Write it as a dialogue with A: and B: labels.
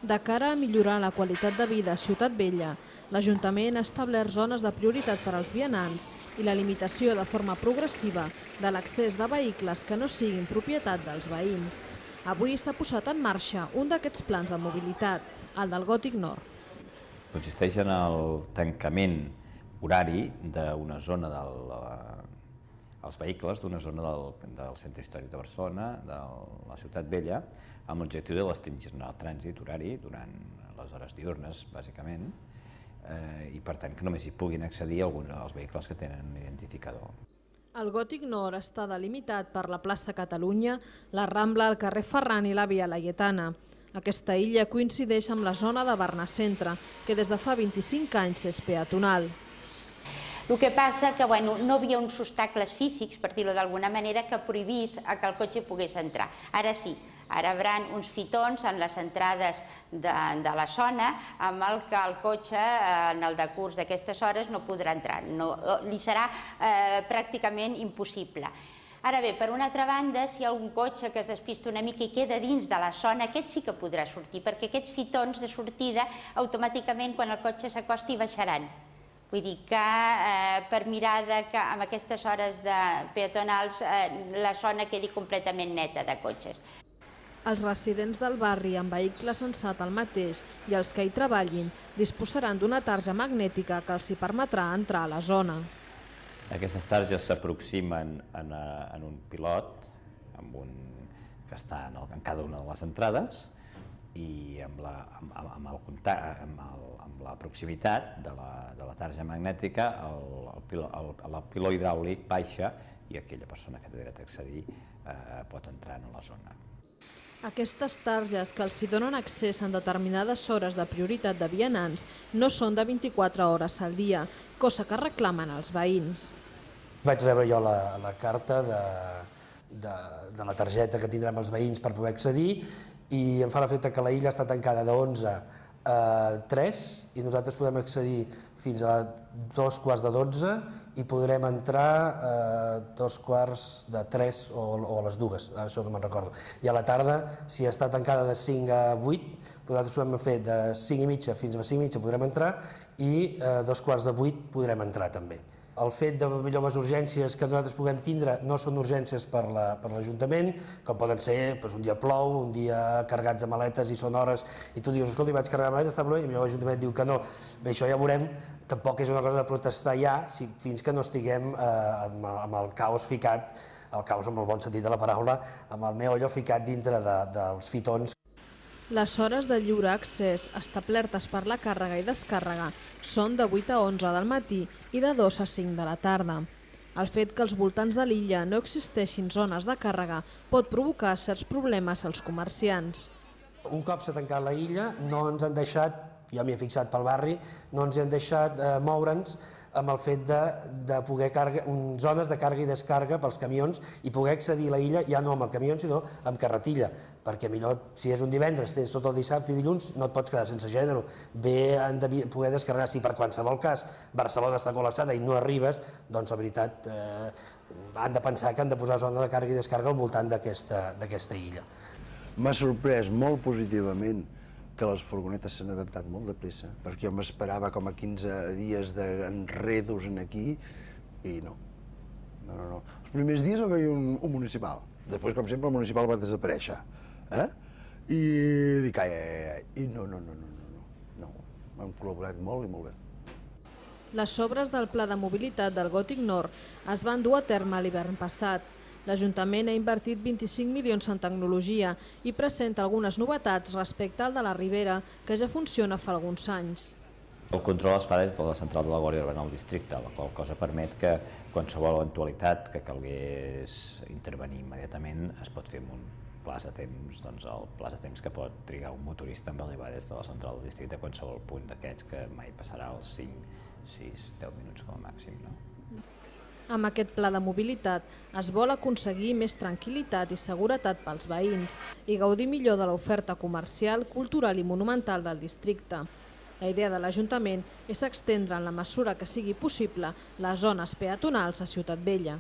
A: De cara a millorar la qualitat de vida a Ciutat Vella, l'Ajuntament ha establert zones de prioritat per als vianants i la limitació de forma progressiva de l'accés de vehicles que no siguin propietat dels veïns. Avui s'ha posat en marxa un d'aquests plans de mobilitat, el del Gòtic Nord.
B: Consisteix en el tancament horari d'una zona dels vehicles d'una zona del centre històric de Barcelona, de la Ciutat Vella, amb l'objectiu de restringir el trànsit horari durant les hores diürnes, bàsicament, i per tant que només hi puguin accedir alguns dels vehicles que tenen identificador.
A: El Gòtic Nord està delimitat per la plaça Catalunya, la Rambla, el carrer Ferran i la Via Laietana. Aquesta illa coincideix amb la zona de Barna-Centre, que des de fa 25 anys és peatonal.
C: El que passa que no hi havia uns obstacles físics, per dir-ho d'alguna manera, que prohibís que el cotxe pogués entrar. Ara sí, ara hi haurà uns fitons en les entrades de la zona amb el que el cotxe en el decurs d'aquestes hores no podrà entrar. Li serà pràcticament impossible. Ara bé, per una altra banda, si hi ha un cotxe que es despista una mica i queda dins de la zona, aquest sí que podrà sortir, perquè aquests fitons de sortida automàticament quan el cotxe s'acosti baixaran. Vull dir que per mirar que amb aquestes hores peatonals la zona quedi completament neta de cotxes.
A: Els residents del barri amb vehicle censat al mateix i els que hi treballin disposaran d'una tarja magnètica que els hi permetrà entrar a la zona.
B: Aquestes targes s'aproximen en un pilot que està en cada una de les entrades i amb la proximitat de la tarja magnètica el piló hidràulic baixa i aquella persona que té dret a accedir pot entrar en la zona.
A: Aquestes targes que els hi donen accés en determinades hores de prioritat de vianants no són de 24 hores al dia, cosa que reclamen els veïns.
D: Vaig rebre jo la carta de la targeta que tindrem els veïns per poder accedir i em fa l'efecte que la illa està tancada de 11 a 3 i nosaltres podem accedir fins a 2:15 i podrem entrar a 2:15 o a les 2, ara això no me'n recordo. I a la tarda, si està tancada de 5 a 8, nosaltres podem fer de 5 i mitja fins a 5 i mitja podrem entrar i a 7:15 podrem entrar també. El fet de millor les urgències que nosaltres puguem tindre no són urgències per l'Ajuntament, com poden ser un dia plou, un dia carregats de maletes i són hores i tu dius, escolta, vaig carregar maletes, està bé, i l'Ajuntament diu que no. Bé, això ja veurem, tampoc és una cosa de protestar ja fins que no estiguem amb el caos ficat, el caos en el bon sentit de la paraula, amb el meollo ficat dintre dels fitons.
A: Les hores de lliure accés establertes per la càrrega i descàrrega són de 8 a 11 del matí i de 2 a 5 de la tarda. El fet que als voltants de l'illa no existeixin zones de càrrega pot provocar certs problemes als comerciants.
D: Un cop s'ha tancat la illa no ens han deixat, jo m'hi he fixat pel barri, no ens han deixat moure'ns amb el fet de poder zones de càrrega i descàrrega pels camions i poder accedir a la illa ja no amb el camió sinó amb carretilla, perquè millor si és un divendres, tens tot el dissabte i dilluns, no et pots quedar sense gènere. Bé, han de poder descarregar, si per qualsevol cas Barcelona està col·lapsada i no arribes, doncs la veritat han de pensar que han de posar zona de càrrega i descàrrega al voltant d'aquesta illa.
E: M'ha sorprès molt positivament que les furgonetes s'han adaptat molt de pressa, perquè jo m'esperava com a 15 dies d'enredos aquí i no. Els primers dies va haver-hi un municipal, després, com sempre, el municipal va desaparèixer. I dic, i no, hem col·laborat molt i molt bé.
A: Les obres del Pla de Mobilitat del Gòtic Nord es van dur a terme l'hivern passat. L'Ajuntament ha invertit 25 milions en tecnologia i presenta algunes novetats respecte al de la Ribera, que ja funciona fa alguns anys.
B: El control es fa des de la central de la Guàrdia Urbana al districte, la qual cosa permet que qualsevol eventualitat que calgués intervenir immediatament es pot fer amb un plaç de temps, doncs el plaç de temps que pot trigar un motorista en arribar des de la central del districte a qualsevol punt d'aquests, que mai passarà els 5, 6, 10 minuts com a màxim.
A: Amb aquest pla de mobilitat es vol aconseguir més tranquil·litat i seguretat pels veïns i gaudir millor de l'oferta comercial, cultural i monumental del districte. La idea de l'Ajuntament és extendre en la mesura que sigui possible les zones peatonals a Ciutat Vella.